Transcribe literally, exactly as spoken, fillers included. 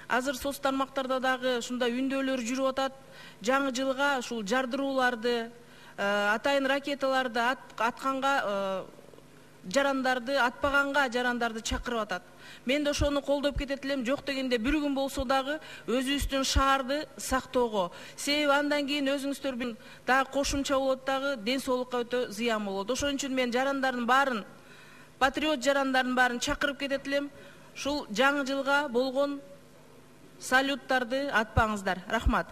Азыр соц тармактарда дагы ушундай үндөөлөр жүрүп атат. Жаңы жылга ушул жардырууларды, атайын ракеталарды атканга жарандарды, атпаганга жарандарды чакырып атат. Мен да ошону колдоп кетет элем. Жок дегенде бир күн болсо дагы өзүбүздүн шаарды сактоого. Себеби андан кийин өзүңүздөр билин дагы кошумча болот, дагы ден соолукка өтө зыян болот. Ошон үчүн мен жарандардын баарын, патриот жарандардын баарын чакырып кетет элем. Ушул жаңы жылга болгон салюттарды атпаңыздар. Рахмат.